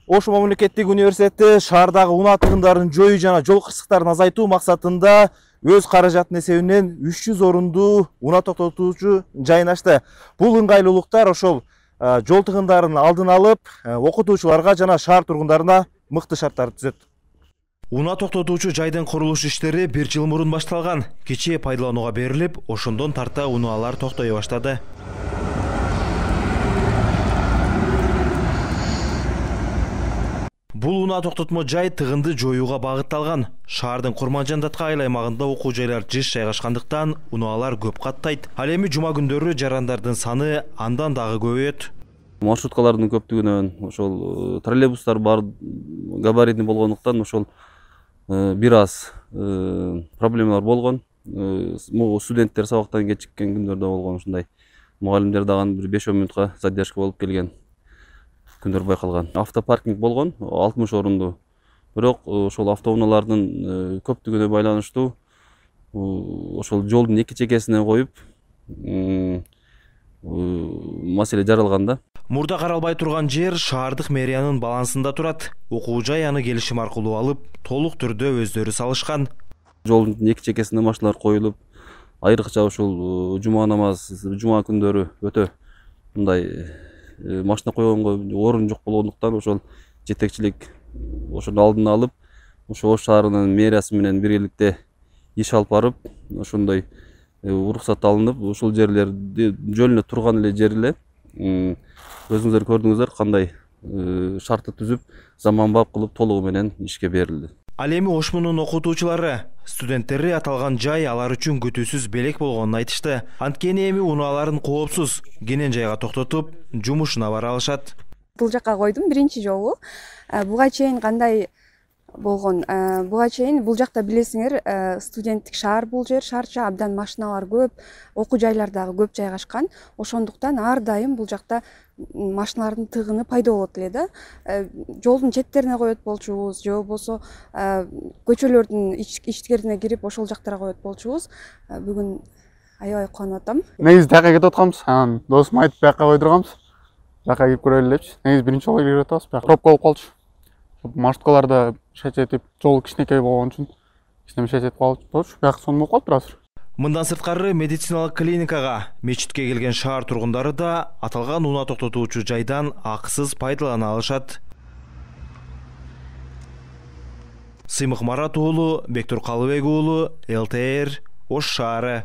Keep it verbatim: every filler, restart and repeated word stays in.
Ош мамлекеттик университети шаардагы унаа тыгындарын жоюу жана жол кырсыктарын азайтуу максатында өз каражатынын эсебинен үч жүз орунду унаа токтотуучу жайын ачты. Бул ыңгайлуулуктар ошол жол тыгындарын алдын алып, окутуучуларга жана шаар тургундарына мыкты шарттарды түзөт. Унаа токтотуучу жайдын курулуш иштери бир жыл мурун башталган. Кечээ пайдаланууга берилип, ошондон тарта унаалар токтой баштады. Бул унаа токтотмо жай тыгынды жоюуга багытталган. Шаардын Курманжан-Даткай аймагында окуу жайлар жыш жайгашкандыктан унаалар көп каттайт. Ал эми жума күндөрү жарандардын саны андан дагы көбөйөт. Маршруткалардын көптүгүнөн ошол троллейбустар бар габаритный болгондуктан ошол бир аз проблемалар болгон. Студенттер сабактан кечиккен күндөрдө болгон ушундай. Мугалимдер дагы бир беш он мүнөткө задержка болуп келген күндөр байкалган. Автопаркинг болгон алтымыш орунду. Бирок ошол автоунаалардын көптүгүнө байланыштуу ошол жолдун эки чекесине коюп маселе жаралган да. Мурда каралбай турган жер шаардык мэриянын балансында турат. Окуу жай аны келишим аркылуу алып, толук түрдө өздөрү салышкан. Жолдун эки чекесине машиналар коюлуп, айрыкча ушул жума намаз, жума күндөрү өтө мындай машина койгонго орун жок болгондуктан ошол жетекчилик ошону алдын алып, ошо Ош шаарынын мэриясы менен биргеликте иш алып барып, ошондой уруксат алынып, ушул жерлерди жөнүнө турган эле жер эле өзүңүздөр көрдүңүздөр кандай шартты түзүп, заманбап кылып толугу менен ишке берилди. Ал эми Ошмунун окутуучулары, студенттери аталган жай алар үчүн күтүүсүз белек болгонун айтышты. Анткени эми унааларын коопсуз кенен жайга токтотуп, жумушуна бара алышат. Бул жакка койдум биринчи жолу. Буга чейин кандай болгон? Буга чейин бул жакта билесиңер, студенттик шаар бул жер, шаарча абдан машиналар көп, окуу жайлар дагы көп жайгашкан. Ошондуктан ар дайым бул жакта машиналардын тыгыны пайда болот эле да. Жолдун четтерине коет болчубуз, же болбосо көчөлөрдүн ичкерине кирип ошол жактарга коет болчубуз. Бүгүн аябай кубанып атам. Негизи тияка кетип атканбыз, анан досум айтып бияка койдурганбыз. Жака кирип көрөлү депчи. Негизи биринчи жолу кирип атабыз, бияка пробка болуп калчу. Маршруткаларда шечетип, жол кичинекей болгон үчүн кичине шечетип калчу. Бияка сонун болуп калды бир аз. Мындан сырткары медициналык клиникага, мечитке келген шаар тургундары да аталган унаа токтотуучу жайдан акысыз пайдалана алышат. Сыймык Марат уулу, Бектур Калыбек уулу, эл тэ эр, Ош шаары.